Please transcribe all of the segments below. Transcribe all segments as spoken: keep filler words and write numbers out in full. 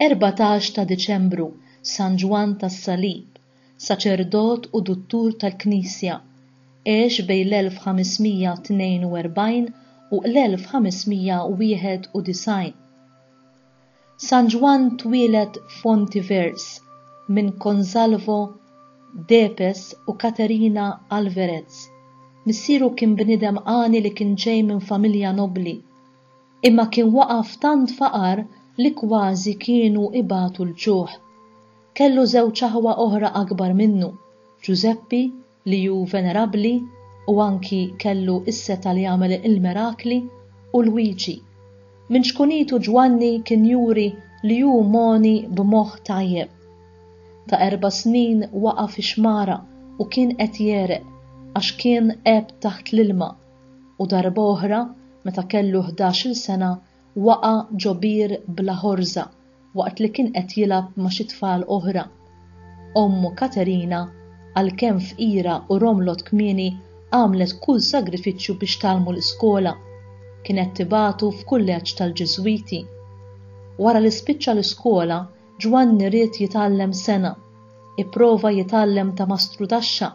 Erbatax ta' Diċembru, San Ġwann tas-Salib, saċerdot u duttur tal-Knisja, għex bejn l-elf ħames mija tnejn u erbgħin u l-elf ħames mija wieħed u disgħin. San Ġwann twieled f'Fontivers minn Consalvo Depes u Caterina Alvarez. Missieru kien bniedem għani li kien ġej minn familja nobli, imma kien waqa' f'tant faqar li kważi kienu ibatu l-ġuħ. Kellu żewġ aħwa oħra akbar minnu, Giuseppi, li hu venerabli u anki kellu is-seta li jagħmel il-mirakli, u Luigi. Minn xkunitu Ġwanni kien juri li hu moni b'moħħ tajjeb. Ta' erba' snin waqa' fi xmara u kien qed jereq għax kien għeb taħt l-ilma, u darba oħra, meta kellu ħdax-il sena, waqa' ġo bir bla ħorża waqt li kien qed jilgħab ma' xi tfal oħra. Ommu Katerina, għalkemm fqira u romlot kmieni, għamlet kull sagrifiċċju biex tgħallmu l-iskola. Kienet tibatu f'kulleġġ tal-Ġiżwiti. Wara li spiċċa l-iskola, Ġwanni ried jitgħallem sena. Ipprova jitgħallem ta' mastrudaxxa,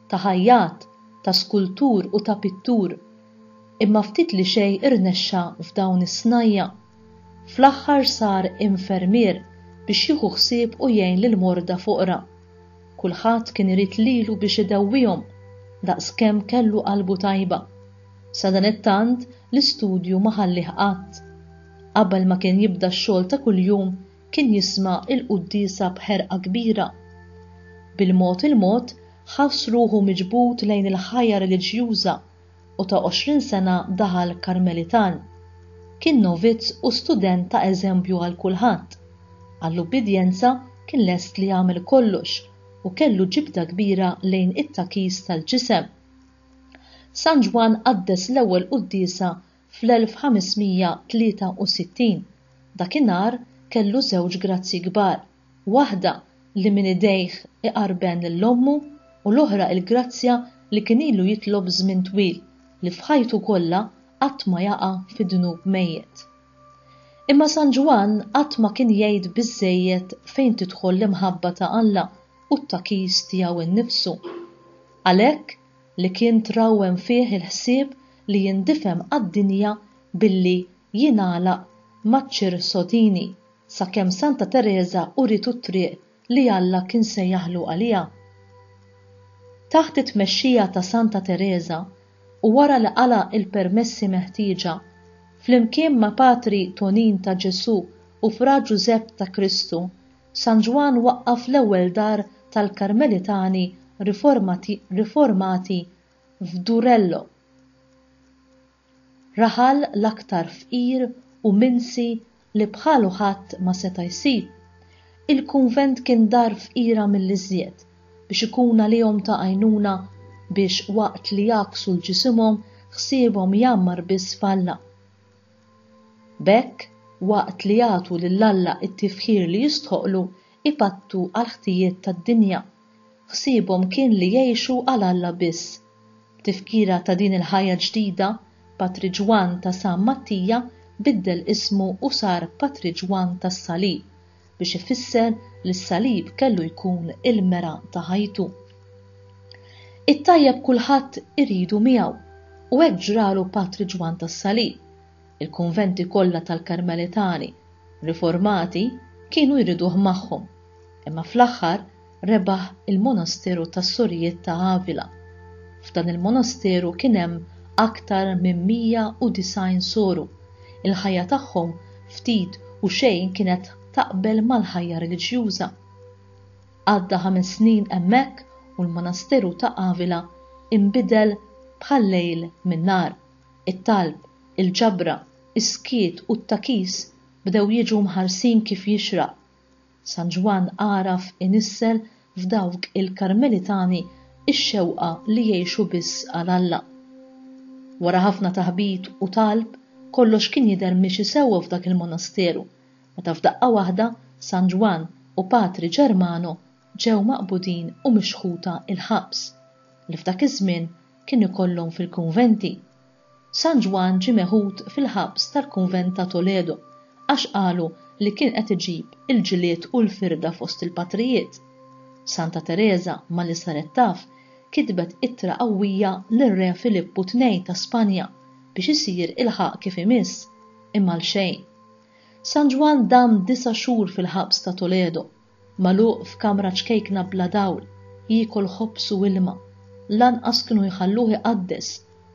ta' ħajjat, ta' skultur u ta' pittur. Imma ftit li xejn irnexxa f'dawn is-snajja. Fl-aħħar sar infermier biex jieħu ħsieb u jgħin lil morda foqra. Kulħadd kien irid lilu biex idewwihom, daqskemm kellu qalbu tajba. Sadanittant l-istudju ma ħallih qatt. Qabel ma kien jibda x-xogħol ta' kuljum, kien jisma' il-quddiesa b'ħerqa kbira. Bil-mod il-mod ħass ruħu miġbud lejn il-ħajja reliġjuża u ta' għoxrin sena daħal Karmelitan. Kien novizz u student ta' eżempju għal kulħadd. Għall-ubbidjenza kien lest li jagħmel kollox u kellu ġibda kbira lejn it-takis tal-ġisem. San Ġwann qaddes l-ewwel quddiesa fl-elf ħames mija tlieta u sittin. Dakinhar kellu żewġ grazzi kbar, waħda li minn idejh iqarben lil ommu u l-oħra il-grazzja li kien ilu jitlob żmien twil li f'ħajtu kollha qatt ma jaqa' fi dnub mejjet. Imma San Ġwann qatt ma kien jgħid biżżejjed fejn tidħol l-imħabba ta' Alla u t-takis tiegħu nnifsu. Għalhekk li kien trawwem fih il-ħsieb li jindifem għad-dinja billi jingħalaq maċ-ċirsodini sakemm Santa Tereża uritu t-triq li Alla kien sejjaħlu għaliha. Taħt it-tmexxija ta' Santa Tereża u wara li qala il-permessi meħtieġa, flimkien ma' Patri Tonin ta' Ġesu u Fra Ġużepp ta' Kristu, San Ġwann waqqaf l-ewwel dar tal-Karmelitani riformati, riformati f'Durello, raħal l-aktar fqir u minsi li bħalu ħadd ma seta' jsib. Il-kunvent kien dar fqira mill-iżjed biex ikun għalihom ta' għajnuna biex waqt li jgħakksu l-ġisimhom ħsiebhom jgħammar biss f'Alla. B'hekk, waqt li jagħtu lil Alla t-tifħir li jistħoqlu, ipattu għal ħtijiet tad-dinja. Ħsiebhom kien li jgħixu għal Alla biss. B'tifkira ta' din il-ħajja ġdida, Patri Ġwann ta' San Mattija biddel ismu u sar Patri Ġwann tas-Salib biex ifisser li s-salib kellu jkun il-mera ta' ħajtu. It-tajjeb kulħadd iridu miegħu u hekk ġralu Patri Ġwann tas-Salib. Il-kunventi kollha tal-Karmelitani riformati kienu jriduh magħhom, imma fl-aħħar rebaħ il-monasteru tas-Sorijiet ta' Avila. F'dan il-monasteru kien hemm aktar minn mija u disgħin soru. Il-ħajja tagħhom ftit u xejn kienet taqbel mal-ħajja reliġjuża. Għadda ħames snin hemmhekk u l-monasteru ta' Avila inbidel bħal-lejl min-nar. It-talb, il-ġabra, is-skiet u t-takis bdew jiġu mħarsin kif jixraq. San Ġwann għaraf inissel f'dawk il-Karmelitani ix-xewqa li jgħixu biss għal Alla. Wara ħafna taħbit u talb, kollox kien jidher miexi sewwa f'dak il-monasteru, meta f'daqqa waħda San Ġwann u Patri Ġermano ġew maqbudin u mixħuta il-ħabs, li f'dak iż-żmien kien ikollhom fil-kunventi. San Ġwann ġie meħud fil-ħabs tal-kunvent ta' Toledo għax qalu li kien qed iġib il-ġlied u l-firda fost il-patrijiet. Santa Tereża, malli saret taf, kitbet ittra qawwija lir-Re Filippu tnejn ta' Spanja biex isir il-ħaqq kif imiss, imma għalxejn. San Ġwann dam disa' xhur fil-ħabs ta' Toledo, magħluq f'kamra ċkejkna bla dawl, jiekol ħobż u ilma. Lanqas kienu jħalluh iqaddes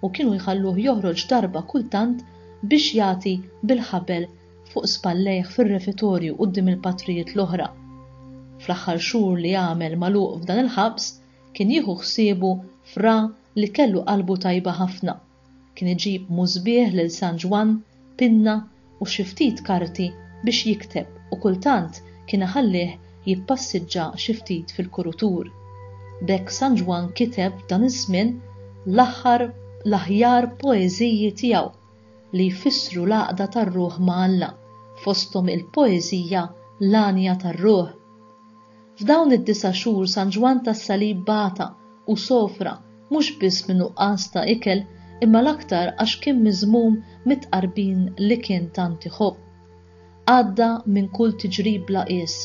u kienu jħalluh joħroġ darba kultant biex jagħti bil-ħabel fuq spallejh fir-refitorju quddiem il-patrijiet l-oħra. Fl-aħħar xhur li għamel magħluq f'dan il-ħabs kien jieħu ħsiebu fra li kellu qalbu tajba ħafna. Kien iġib musbieħ lil San Ġwann, pinna u xi ftit karti biex jikteb u kultant kien iħallih jippassiġġa xi ftit fil-kurutur. B'hekk San Ġwann kiteb f'dan iż-żmien l-aħħar l-aħjar poeżiji tiegħu li jfissru l-għaqda tar-ruħ ma' Alla, fosthom il-poeżija L-Għanja tar-Ruħ. F'dawn id-disa' xhur San Ġwann tas-Salib bata u sofra mhux biss minn nuqqas ta' ikel imma l-aktar għax kien miżmum mit-tqarbin li kien tant iħobb. Għadda minn kull tiġrib bla qies,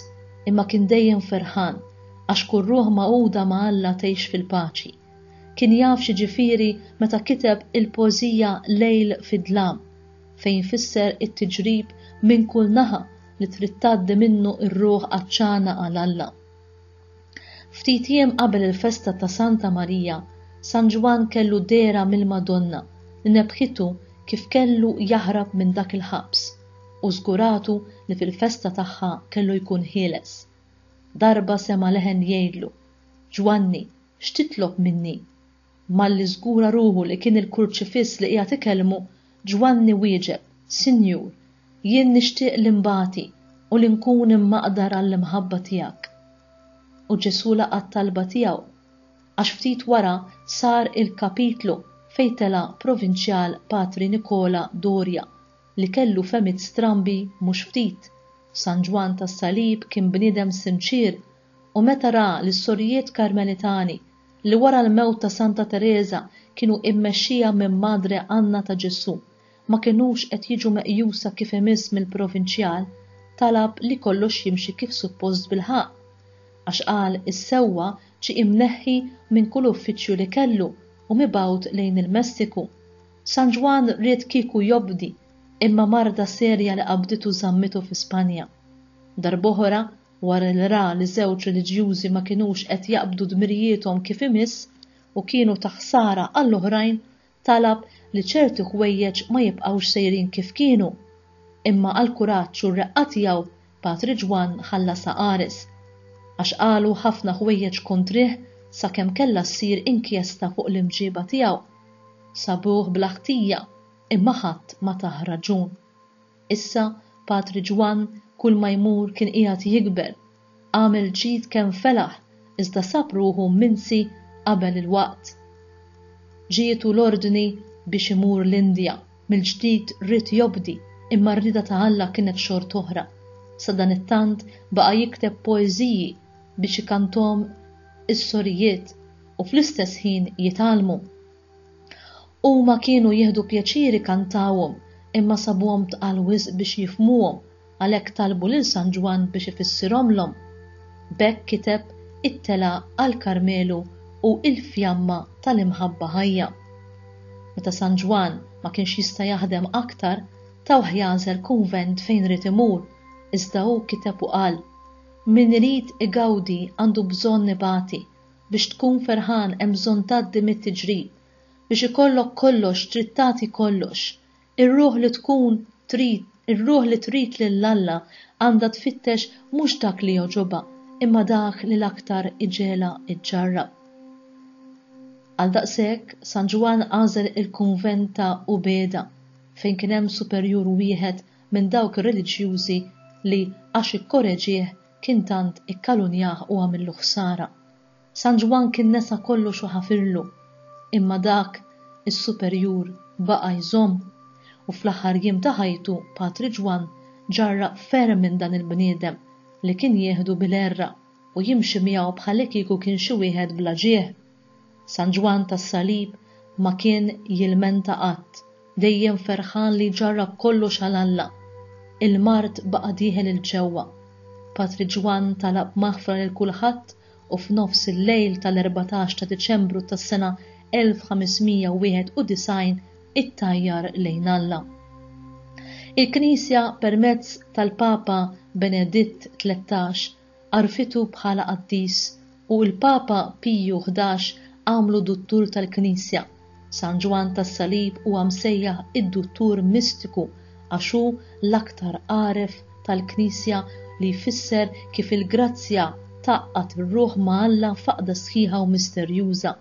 imma kien dejjem ferħan għax kull ruħ magħquda ma' Alla tgħix fil-paċi. Kien jaf x'jiġifieri meta kiteb il-poeżija Lejl fid-Dlam, fejn fisser it-tiġrib minn kull naħa li trid tgħaddi minnu r-ruħ għatxana għal Alla. Ftit jiem qabel il-festa ta' Santa Marija, San Ġwann kellu dehra mill-Madonna li nebbħitu kif kellu jaħrab minn dak il-ħabs u żguratu li fil-festa tagħha kellu jkun ħieles. Darba sema' leħen jgħidlu, Ġwanni, x'titlob minni? Malli żgura ruħu li kien il-Kurċifiss li qiegħed ikellmu, Ġwanni wieġeb, Sinjur, jien nixtieq li nbati u li nkun immaqdar għall-imħabba tiegħek. U Ġesù laqa' t-talba tiegħu, għax ftit wara sar il-kapitlu fejn tela' provinċjal Patri Nikola Doria li kellu fehmiet strambi mhux ftit. San Ġwann tas-Salib kien bniedem sinċier u meta ra li s-sorijiet Karmelitani li wara l-mewt ta' Santa Tereża kienu immexxija minn Madre Anna ta' Ġesù ma kinux qed jiġu meqjusa kif imiss mill-provinċjal, talab li kollox jimxi kif suppost bil-ħaqq. Għax qal is-sewwa ġie imneħħi minn kull uffiċċju li kellu u mibgħut lejn il-Messiku. San Ġwann ried kieku jobdi, imma marda serja li qabditu żammitu fi Spanja. Darb'oħra, wara li ra li żewġ reliġjużi ma kinux qed jaqbdu dmirijiethom kif imiss u kienu ta' ħsara għall-oħrajn, talab li ċerti ħwejjeġ ma jibqgħux sejrin kif kienu. Imma għall-kuraġġ u r-reqqa tiegħu, Patri Ġwann ħallasha qares, għax qalu ħafna ħwejjeġ kontrih sakemm kellha ssir inkjesta fuq l-imġiba tiegħu. Sabuh bla ħtija, imma ħadd ma tah raġun. Issa Patri Ġwann kull ma jmur kien qiegħed jikber, għamel ġid kemm felaħ iżda sab ruħu minsi qabel il-waqt. Ġietu l-ordni biex imur l-Indja, mill-ġdid ried jobdi imma r-rieda ta' Alla kienet xort'oħra. Sadanittant baqa' jikteb poeżiji biex ikanthom is-sorijiet u fl-istess ħin jitgħallmu. Huma kienu jieħdu pjaċir ikantawhom imma sabuhom tqal wisq biex jifhmuhom, għalhekk talbu lil San Ġwann biex ifissirhomlhom. B'hekk kiteb It-Telgħa għall-Karmelu u Il-Fjamma tal-Imħabba Ħajja. Meta San Ġwann ma kienx jista' jaħdem aktar, tawh jagħżel kunvent fejn ried imur, iżda hu kiteb u qal, Min irid igawdi għandu bżonn ibati, biex tkun ferħan hemm bżonn tgħaddi mit-tiġrib, biex ikollok kollox trid tagħti kollox. Ir-ruħ li tkun trid, ir-ruħ li trid lil Alla għandha tfittex mhux dak li jogħġobha, imma dak li l-aktar iġegħelha ġġarrab. Għaldaqshekk, San Ġwann għażel il-kunvent ta' Ubeda, fejn kien hemm superjur wieħed minn dawk ir-reliġjużi li għax ikkoreġieh kien tant ikkalunjah u għamillu ħsara. San Ġwann kien nesa kollox u ħafirlu, imma dak is-superjur baqa' jżomm, u fl-aħħar jiem ta' ħajtu Patri Ġwann ġarrab ferm minn dan il-bniedem li kien jieħdu bil-għerra u jimxi miegħu bħallikieku kien xi wieħed bla ġieħ. San Ġwann tas-Salib ma kien jilmenta qatt, dejjem ferħan li jġarrab kollox għal Alla. Il-mard baqa' dieħel 'il ġewwa. Patri Ġwann talab maħfra lil kulħadd u f'nofs il-lejl tal-erbatax ta' Diċembru tas-sena elf ħames mija wieħed u disgħin ittajjar lejn Alla. Il-Knisja permezz tal-Papa Beneditt tlettax għarfitu bħala qaddis u l-Papa Piju ħdax għamlu duttur tal-Knisja. San Ġwann tas-Salib huwa msejjaħ id-duttur mistiku għax hu l-aktar għaref tal-Knisja li jfisser kif il-grazzja tgħaqqad ir-ruħ ma' Alla f'għaqda sħiħa u misterjuża.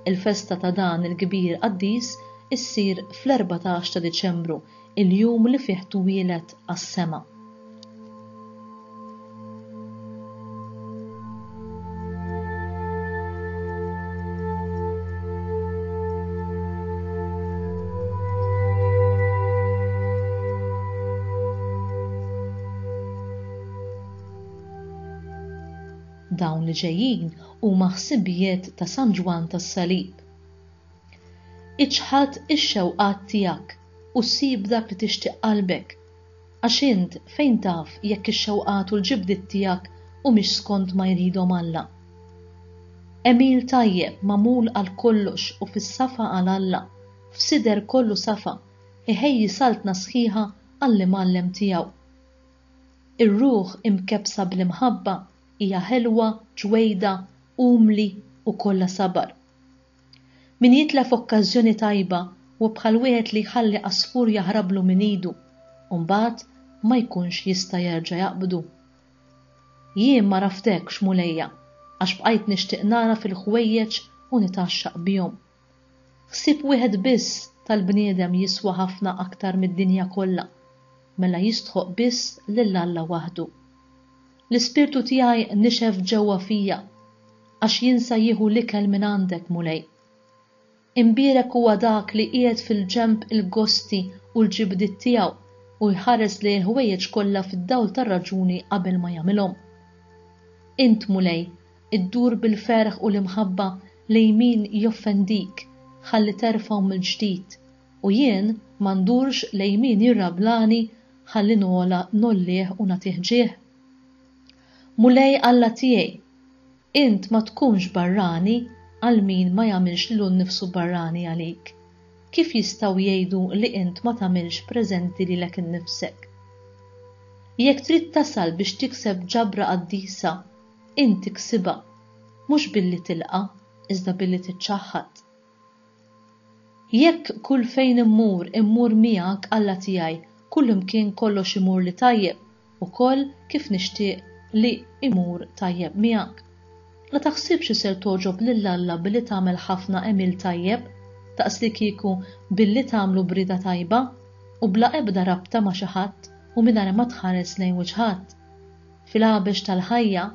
Il-festa ta' dan il-kbir qaddis issir fl-erbatax ta' Diċembru, il-jum li fih twieled għas-sema. Dawn li ġejjin huma ħsibijiet ta' San Ġwann tas-Salib. Iċħad ix-xewqat tiegħek u ssib dak li tixtieq qalbek, għax int fejn taf jekk ix-xewqat u l-ġibdiet tiegħek humiex skont ma jridhom Alla. Għemil tajjeb magħmul għal kollox u fis-safa għal Alla, f'sider kollu safa, iħejji saltna sħiħa għall-imgħallem tiegħu. Ir-ruħ imkebsa bl-imħabba hija ħelwa, ġwejda, umli u kollha sabar. Min jitlef okkażjoni tajba u bħal wieħed li jħalli għasfur jaħrablu minn idu, u mbagħad ma jkunx jista' jerġa' jaqbdu. Jien ma raftekx, Mulejja, għax bqajt nixtieq nara fil-ħwejjeġ u nitgħaxxaq bihom. Ħsieb wieħed biss tal-bniedem jiswa ħafna aktar mid-dinja kollha, mela jistħoq biss lil Alla waħdu. L-ispirtu tiegħi nixef ġewwa fija, għax jinsa jieħu l-ikel minn għandek, Mulej. Imbierek huwa dak li qiegħed fil-ġenb il-gosti u l-ġibdiet tiegħu u jħares lejn il-ħwejjeġ kollha fid-dawl tar-raġuni qabel ma jagħmilhom. Int, Mulej, iddur bil-ferħ u l-imħabba lejn min joffendik, ħalli terfgħu mill-ġdid, u jien ma ndurx lejn min jirrablani ħalli nola nollih u nagħtih ġieħ. Mulej Alla tiegħi, int ma tkunx barrani għal min ma jagħmilx lilu nnifsu barrani għalik. Kif jistgħu jgħidu li int ma tagħmilx preżenti lilek innifsek? Jekk trid tasal biex tikseb ġabra qaddisa, int tiksibha, mhux billi tilqa', iżda billi tiċċaħħad. Jekk kull fejn immur, immur miegħek Alla tiegħi, kull imkien kollox imur li tajjeb, ukoll kif nixtieq li imur tajjeb miegħek. La taħsibx li ser toġob lil Alla billi tagħmel ħafna għemil tajjeb, daqs li kieku billi tagħmlu brida tajba u bla ebda rabta ma' xi ħadd u mingħajr ma tħares lejn wiċċ ħadd. Fil-għabex tal-ħajja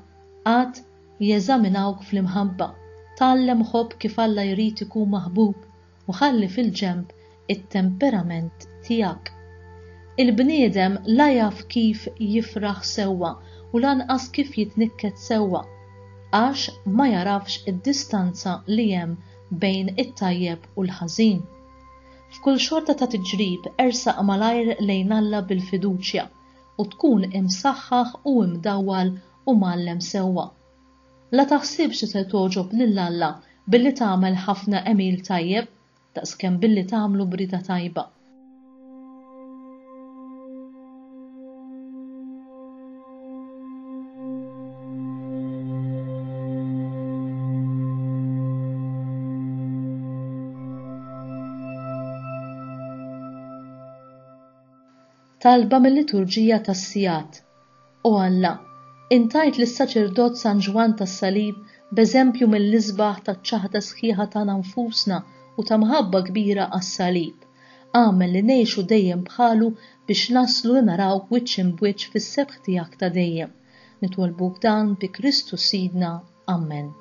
qatt jeżaminawk fl-imħabba, tgħallem ħobb kif Alla jrid ikun maħbub u ħalli fil-ġenb it-temperament tiegħek. Il-bniedem la jaf kif jifraħ sewwa u lanqas kif jitnikket sewwa, għax ma jarafx id-distanza li hemm bejn it-tajjeb u l-ħażin. F'kull xorta ta' tiġrib ersaq malajr lejn Alla bil-fiduċja u tkun imsaħħaħ u imdawwal u mgħallem sewwa. La taħsibx li se togħġob lil Alla billi tagħmel ħafna għemil tajjeb, daqskemm billi tagħmlu brida tajba. Talba mill-liturġija tas-sigħat. O Alla, intajt lis-saċerdot San Ġwann tas-Salib b'eżempju mill-isbaħ taċ-ċaħda sħiħa tagħna nfusna u ta' mħabba kbira għas-salib. Agħmel li ngħixu dejjem bħalu biex naslu li narawk wiċċ imb'wiċċ fis-sebħ tiegħek ta' dejjem. Nitolbuk dan bi Kristu Sidna. Amen.